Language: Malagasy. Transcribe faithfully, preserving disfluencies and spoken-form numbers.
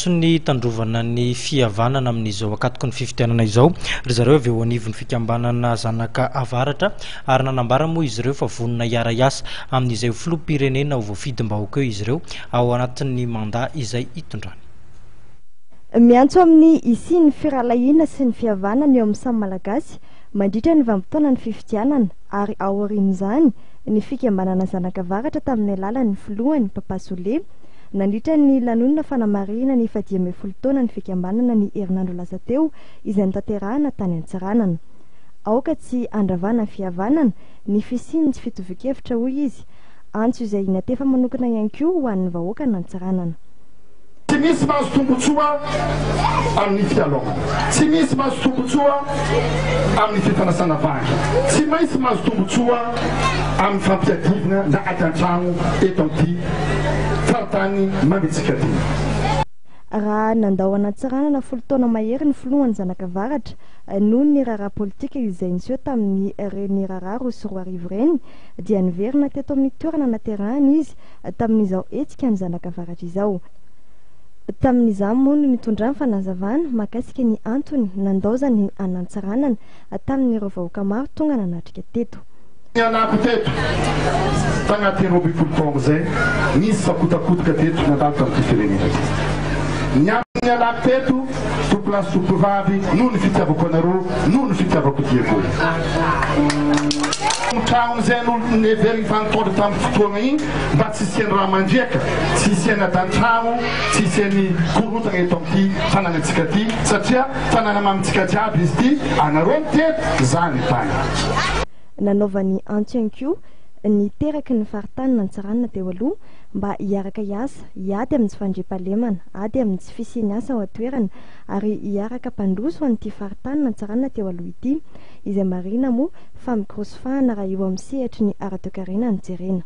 Miantso ny tandrovana ny fihavanana amin'izao ankatoky ny fifidianana izao ry zareo avy eo anivon'ny fikambanana Zanaka Avaratra, ary nanambara moa izy ireo fa vonona hiara-hiasa amin'izay filoham-pirenena ho voafidim-bahoaka eo izy ireo ao anatin'ny mandat izay hitondrany. Miantso amin'ny hisian'ny firahalahiana sy ny fihavanana eo amin'ny samy Malagasy mandritra ny vanim-potoana ny fifidianana ary aorian'izany ny fikambanana Zanaka Avaratra tamin'ny alalan'ny filohany Papa Sole nandritra ny lanonana fanamarihana ny fahadimy ambin'ny folo taona ny fikambanana ny herinandro lasa teo izay notanterahana tany Antsiranana. Aoka tsy handravana fihavanana ny fisian'ny tsy fitovian-kevitra, hoy izy, antso izay natefa manokana ihany koa ho an'ny vahoaka n'Antsiranana. Tsy misy mahazo tombotsoa amin'ny fialogna, tsy misy mahazo tombotsoa amin'ny fifanasana vangy, tsy maintsy mahazo tombotsoa amin'ny fampiadivina na ady an-tragno eto amin'ity faritany mamitsika ty. Raha nandao an'Antsiranana folo taona mahery ny filohan'ny Zanaka Avaratra noho ny raharaha politika izay niseho tamin'ny reny raharaha roa sy roa arivo ireny, dia niverina teto amin'ny toerana naterahany izy tamin'izao hetsika ny Zanaka Avaratra izao. Tamin'izany moa no nitondrany fanazavana mahakasika ny antony nandaozany an'Antsiranana tamin'ireo vahoaka maro tonga nanatrika teto. Nialako teto tagnatin'ny roa ambin'ny folo taona zay, nisy fakotakotoka teto nandalo tamin'ity firenena ty. Ny nialako teto, tompolahy sy tompovavy, noho ny fitiavako anareo, noho ny fitiavako Diego. Tragnon'izay no neveriny fa nitondra tamin'ny fotoagna igny mba tsy hisian'ny raha mandriaka, tsy hisian'ny adan-tragno, tsy hisian'ny korotana eto amin'ity fananantsika ty, satria fanana mamintsika jiaby izy ty, anareo niteto, za ny tany. Nanaovany antso ihany koa ny teraky ny faritany n'Antsiranana teo aloha mba hiaraka hiasa, hiady amin'ny tsy fandriampahalemana, ady amin'ny tsy fisian'ny asa ao an-toerana ary hiaraka hampandroso an'ity faritany n'Antsiranana teo aloha ity, izay marina moa fa mikorosofahana raha eo amin'ny sehatry ny ara-toekarena no jerena.